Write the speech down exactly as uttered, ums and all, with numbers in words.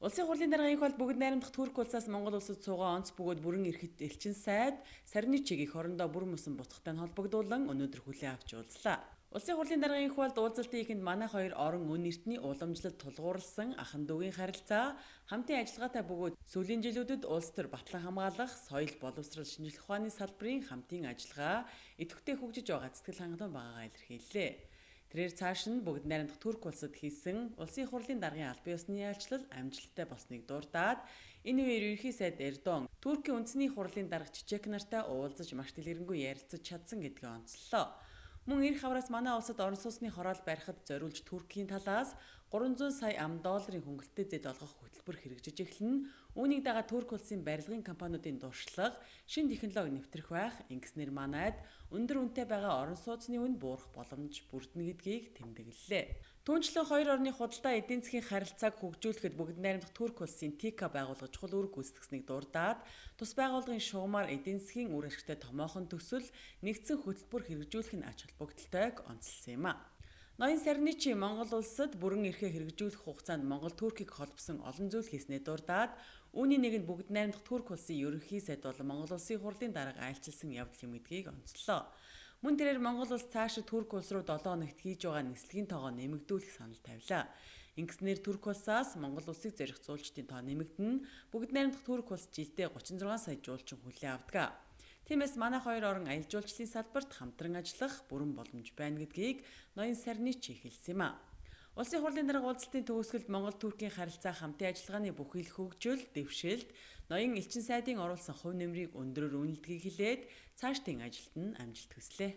Улсын хурлын даргын хол бүгд найрамдах Турк улсаас Монгол улсад суугаа онц бөгөөд бүрэн ирэхэд элчин сайд Сарничиг их орондоо бүр мөсөн бутгатай холбогдуулан өнөөдөр хүлээн авч уулзлаа. Улсын хурлын даргын холд уулзалтын ихэнд манай хоёр орон өн эртний уламжлалт тулгуурласан ахын дүүгийн харилцаа, хамтын ажиллагаатай бөгөөд сүүлийн жилүүдэд улс төр батлан хамгаалах, соёл боловсрол шинжлэх ухааны салбарын хамтын ажиллагаа идэвхтэй хөгжиж байгаа сэтгэл хангалуун байгаагаа илэрхийллээ. Тэрээр цааш нь бүгд найрамдах Турк улсад хийсэн улсын хурлын даргын албан ёсны яалчлал амжилттай болсныг дурдаад энэ үеэр ерөнхий сайд Эрдоган Туркийн үндэсний хурлын дарга Чичек нартай уулзаж маш дэлгэрэнгүй ярилцаж чадсан гэдгээ онцлолоо. Мөн эх хавраас манай улсад орон сууцны хороол барихад зориулж Туркийн талаас гурван зуун сая ам долларын хөнгөлөлтөд зэд олгох хөтөлбөр хэрэгжиж эхлэн үүнийг дагаад Турк улсын барилгын компаниудын дуршлаг, шин технологи нэвтрэх байх, ингэснээр манайд өндөр үнэтэй байгаа орон сууцны үн буурах боломж бүрдэнэ гэдгийг тэмдэглэлээ. Түүнчлэн хоёр орны худалдаа эдийн засгийн харилцааг хөгжүүлэхэд бүгд найрамдах Турк улсын ТИКА байгуулгаж чухал үүрэг гүйцэтгэснийг дурдаад тус байгууллагын шугамар эдийн засгийн үр ашигтай томоохон төсөл нэгдсэн хөтөлбөр хэрэгжүүлэх нь ач холбогдолтойг онцлсан юм а. Ноён Сарничи Монгол улсад бүрэн эрхээ хэрэгжүүлэх хугацаанд Монгол Туркийг холбосон олон зүйл хийснээр дурдаад үүний нэг нь бүгд найрамдах Турк улсын ерөнхий сайд болон Монгол улсын хурлын дарга айлчилсан явдал юм гэдгийг онцлоо. Мөн тэрээр Монгол улс цаашид Турк улс руу долоо хоногт хийж байгаа нислэгийн тоогоо нэмэгдүүлэх санал тавилаа. Ингэснээр Турк улсаас Монгол улсыг зорих зуулчдын тоо нэмэгдэнэ. Бүгд найрамдах Турк улс жилдээ гучин зургаан сая жуулчин хүлээн авдаг. Тиймээс манай хоёр орон аялал жуулчлалын салбарт хамтран ажиллах бүрэн боломж байна гэдгийг ноён Сарничи хэлсэн юм а. Улсын хурлын дарга уулзалтын төгсгөлд Монгол-Туркийн харилцаа хамтын ажиллагааны бүхий л хөгжил, дэвшилт, ноён элчин сайдын оруулсан хувь нэмрийг өндрөөр үнэлдгийг хэлээд цаашдын ажилд нь амжилт хүслээ.